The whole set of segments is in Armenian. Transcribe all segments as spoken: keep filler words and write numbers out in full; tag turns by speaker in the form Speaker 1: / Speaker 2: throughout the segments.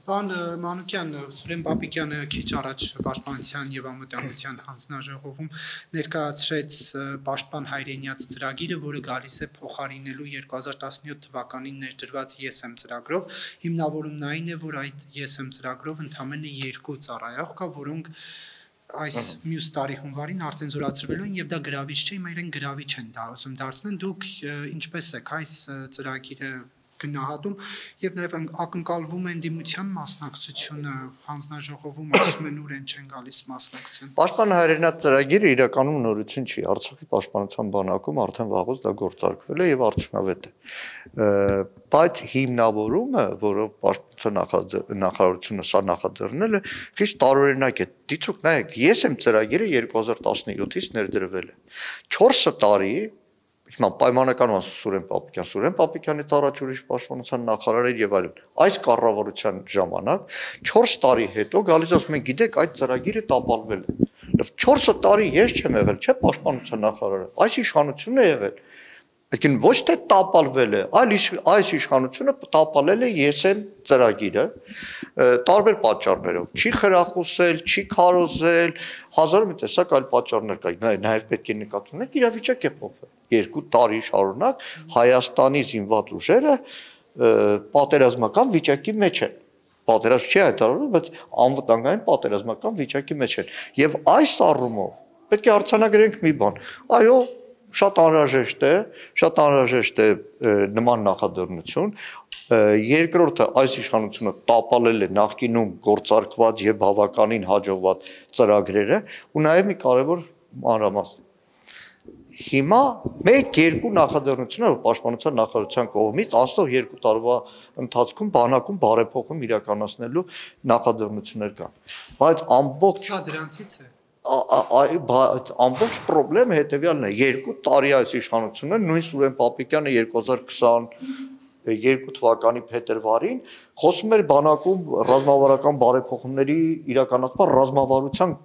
Speaker 1: Պարոն Մանուկյան, Սուրեն Պապիկյանը քիչ առաջ Պաշտպանության եւ անվտանգության հանձնաժողովում ներկայացրեց Պաշտպան հայրենիաց ծրագիրը, որը գալիս է փոխարինելու երկու հազար տասնյոթ թվականին ներդրված Ես եմ ծրագրով։ Հիմնավորումն այն է, որ այդ Ես եմ ծրագրով ընդամենը երկու ծառայող կա, որոնք այս մյուս տարի հունվարին արդեն զորացրվելու են եւ դա գրավիչ չէ, հիմա իրեն գրավիչ են դա ուզում դարձնել։ Դուք ինչպես եք այս ծրագիրը գնահատում եւ նաեւ ակնկալվում է ընդդիմության մասնակցությունը հանձնաժողովում, ասում են ուր են չեն գալիս մասնակցեն։
Speaker 2: Պաշտպան հայրենիաց ծրագիրը իրականում նորություն չի, Արցախի պաշտպանության բանակում արդեն վաղուց դա գործարկվել է եւ արդյունավետ է։ Բայց հիմնավորումը, որով պաշտպանության նախարարությունը սա նախաձեռնել է, խիստ տարօրինակ է։ Դիցուք նայեք, Ես եմ ծրագիրը երկու հազար տասնյոթից ներդրվել է։ չորս տարի Հիմա պայմանական ասում Սուրեն Պապիկյան, Սուրեն Պապիկյանից առաջ ուրիշ պաշտպանության նախարար էր եւ այլն։ Այս կառավարության ժամանակ չորս տարի հետո գալիս ասում են, գիտեք, այդ ծրագիրը տապալվել է։ չորս տարի ես չեմ եղել, չէ՞ պաշտպանության նախարարը։ Այս իշխանությունն է եղել։ Այսինքն ոչ թե տապալվել է, այլ այս իշխանությունը տապալել է Ես եմ ծրագիրը տարբեր պատճառներով։ Չի խրախուսել, չի քարոզել, հազար մի տեսակ այլ պատճառներ կա։ Նաեւ պետք է նկատի ունենք, իրավիճակ է փոխվել։ Երկու տարի շարունակ Հայաստանի զինված ուժերը պատերազմական վիճակի մեջ են։ Պատերազմ չի հայտարարում, բայց անվտանգային պատերազմական վիճակի մեջ են։ Եվ այս առումով պետք է արձանագրենք մի բան։ Այո, շատ անհրաժեշտ է, շատ անհրաժեշտ է նման նախաձեռնություն։ Երկրորդը այս իշխանությունը տապալել է նախկինում գործարկված եւ բավականին հաջողված ծրագրերը ու նաեւ մի կարեւոր մանրամասն։ Հիմա մեկ-երկու նախաձեռնություններ պաշտպանության նախարարության կողմից անցնող երկու տարվա ընթացքում բանակում բարեփոխում իրականացնելու նախաձեռնություններ կան։ Բայց ամբողջ
Speaker 1: Սա դրանցից է։
Speaker 2: Ամբողջ խնդրեմը հետեւյալն է. երկու տարի այս իշխանությունը նույն Սուրեն Պապիկյանը երկու հազար քսաներկու թվականի փետրվարին խոսում էր բանակում ռազմավարական բարեփոխումների իրականացման ռազմավարության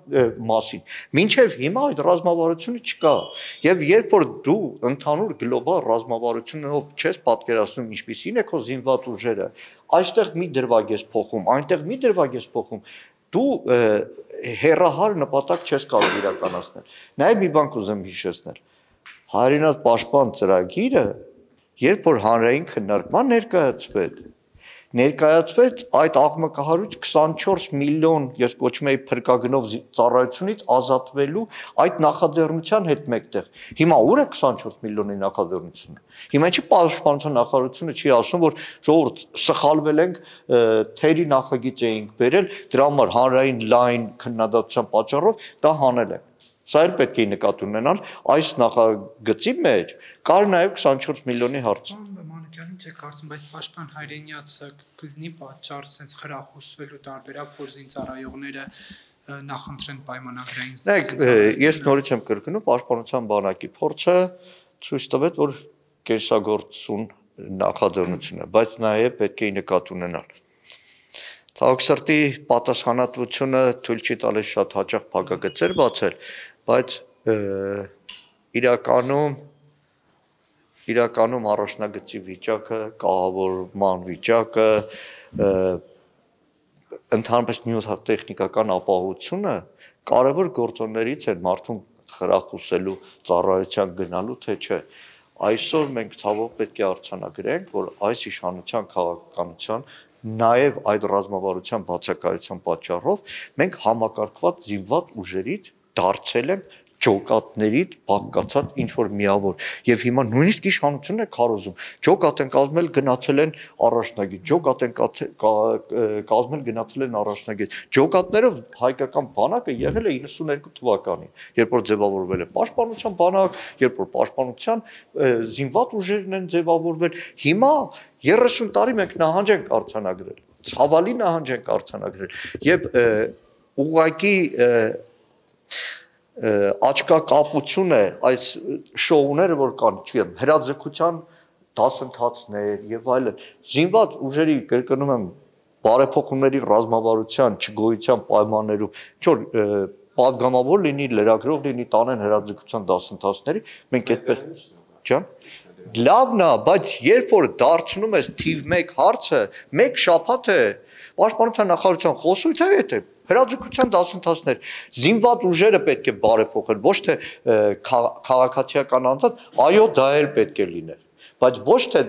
Speaker 2: մասին։ Մինչև հիմա այդ ռազմավարությունը չկա։ Եվ երբ որ դու ընդհանուր գլոբալ ռազմավարությունով չես պատկերացնում ինչպիսին է քո զինված ուժերը, այստեղ մի դրվագ ես փոխում, այնտեղ մի դրվագ ես փոխում, դու հերահար նպատակ չես կարող իրականացնել։ Նաև մի բան կուզեմ հիշեցնել։ Հայրենիաց պաշտպան ծրագիրը, երբ որ հանրային քննարկման ներկայացվեց, ներկայացվեց այդ աղմկահարույց քսանչորս միլիոն, ես կոչում եի փրկագնով ծառայությունից ազատվելու այդ նախաձեռնության հետ մեկտեղ։ Հիմա ուր է քսանչորս միլիոնի նախաձեռնությունը։ Հիմա ինչի պաշտպանության նախարարությունը չի ասում, որ ժողովուրդ սխալվել ենք, թերի նախագիծ էինք բերել, դրա համար հանրային լայն քննադատության պատճառով դա հանել ենք։ Սա էլ պետք է նկատի ունենալ, այս նախագծի մեջ կար նաև քսանչորս միլիոնի հարց։
Speaker 1: Մանուկյանին չէ կարծում, բայց պաշտպան հայրենիացը կլինի պատճառ sense խրախուսվելու տարբերակ, որ զինծառայողները նախընտրեն պայմանագրային
Speaker 2: զինծառայողություն։ Ես նորից եմ կրկնում, պաշտպանության բանակի փորձը ցույց տվեց, որ կեսագործուն նախաձեռնություն է, բայց նաև պետք է նկատի ունենալ։ Ցավոք սրտի պատասխանատվությունը թույլ չի տալիս շատ հաճախ փակագծեր բացել, բայց իրականում իրականում առաջնագծի վիճակը, կահավորման վիճակը, ընդհանրապես նյութատեխնիկական ապահովությունը կարևոր գործոններից են մարդուն խրախուսելու ծառայության գնալու, թե չէ։ Այսօր մենք ցավոք պետք է արձանագրենք, որ այս իշխանության քաղաքականության նաև այդ ռազմավարության բացակայության պատճառով մենք համակարգված զինված ուժերից դարձել ենք ջոկատներից բաղկացած ինչ-որ միավոր։ Եվ հիմա նույնիսկ իշխանությունն է քարոզում։ Ջոկատ են կազմել, գնացել են առաջնագիծ, ջոկատ են կազմել, գնացել են առաջնագիծ։ Ջոկատներով հայկական բանակը եղել է իննսուններկու թվականին, երբ որ ձևավորվել է պաշտպանության բանակ, երբ որ պաշտպանության զինված ուժերն են ձևավորվել։ Հիմա երեսուն տարի մենք նահանջ ենք արձանագրել, ցավալի նահանջ ենք արձանագրել եւ ուղղակի աչքակապություն է այս շոուները, որ կան, չգիտեմ, հրաձգության դասընթացներ եւ այլն։ Զինված ուժերի կրկնում եմ բարեփոխումների ռազմավարության չգոյության պայմաններում, ինչ որ պատգամավոր լինի, լրագրող լինի, տանեն հրաձգության դասընթացների, մենք այդպես ջան Լավն է, բայց երբ որ դարձնում ես թիվ մեկ հարցը, մեկ շաբաթ է Պաշտպանության նախարարության խոսույթը այդ է, հրաձգության դասընթացներ, զինված ուժերը պետք է բարեփոխել, ոչ թե քաղաքացիական անձանց, այո, դա էլ պետք է լիներ, բայց ոչ թե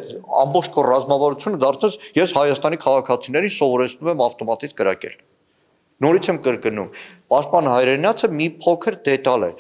Speaker 2: ամբողջ քո ռազմավարությունը դարձնես ես Հայաստանի քաղաքացիներին սովորեցնում եմ ավտոմատից կրակել։ Նորից եմ կրկնում, պաշտպան Հայրենյացը մի փոքր դետալ է։